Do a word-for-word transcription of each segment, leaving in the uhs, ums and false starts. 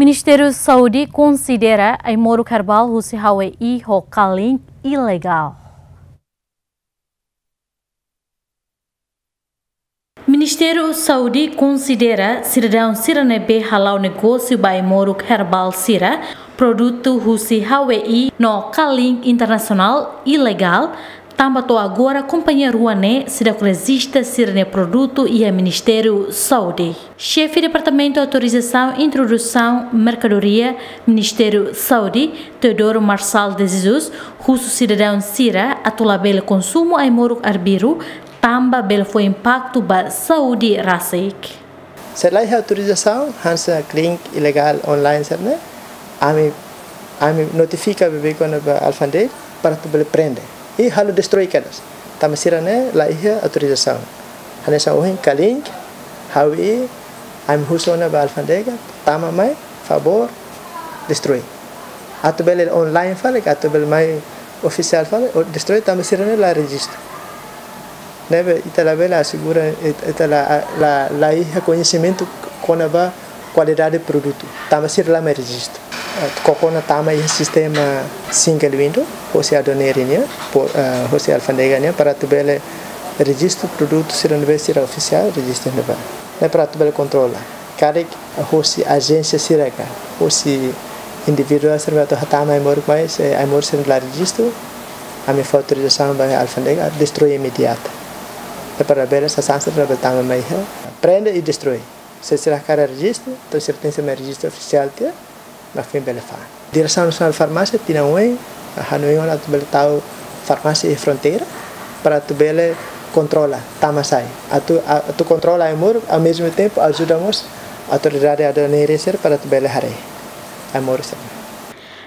Ministériu Saúde konsidera ai-moruk herbál husi Hawei ho Kalink ilegál. Ministériu Saúde konsidera sidadaun sira ne'ebé hala'o negósiu ba ai-moruk herbál sira, produtu husi Hawei no Kalink Internasionál ilegál, tanba to'o agora kompañia rua ne'e seidauk rejista sira-nia produtu iha Ministériu Saúde. Xefe Departamentu Autorizasaun Introdusaun Merkadoria, Ministériu Saúde, Teodoro Marçal de Jesus, husu sidadaun sira atu labele konsumu ai-moruk arbiru, tanba bele fó impaktu ba saúde rasik. Se la iha autorizasaun, hanesan Kalink ilegál online sira-ne'e, ami, ami notifika beibeik ona ba alfándega para atu bele prende. I halo destroi kedas. Tanba sira-ne'e la iha autorizasaun. Hanesan ohin Kalink, Hawei, ami husu ona ba alfándega, tama mai, favór, destroi. Atu bele online fali, atu bele mai ofisiál fali, o destroi tanba sira-ne'e la rejistu. Ne'ebé ita labele asegura, it-, ita la, la, la iha koñesimentu kona-ba kualidade produtu. Tanba sira la mai rejistu. Koko ona tama iha sistema single window, hosi aduana nian, po-, eh, hosi alfándega nian, para atu bele rejistu produtu sira ne'ebé sira ofisiál, rejistu ne'ebá. Ne'e para atu bele kontrola. Karik hosi ajénsia sira ka, hosi individuál sira atu hatama ai-moruk mai, se ai-moruk sira la rejistu, ami fó autorizasaun ba alfándega, destroi imediata. Ne'e para bele sasán sira bele tama mai iha, prende i destroi. Se sira hakarak rejistu, entaun sira tenke mai rejistu ofisiál tiha, mak foin bele fa'an. Diresaun Nasionál Farmásia, tinan oin, hanoin ona atu bele tau farmásia iha fronteira, para atu bele kontrola tama sai. Atu, a-, atu kontrola ai-moruk, ao mesmo tempo ajuda mós autoridade aduaneira sira para atu bele haree ai-moruk sira.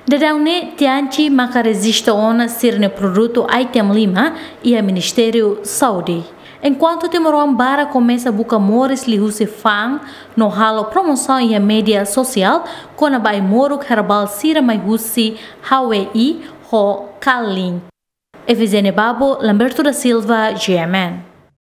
Daudaun ne'e Tianchi maka rejista ona sira-nia produtu item lima iha Ministériu Saúde. Enkuantu timoroan barak komesa buka moris liuhusi fa'an no halo promosaun iha média sosiál kona-ba ai-moruk herbál sira mai husi Hawei ho Kalink. Efizénia Babo, Lamberto da Silva, G M N.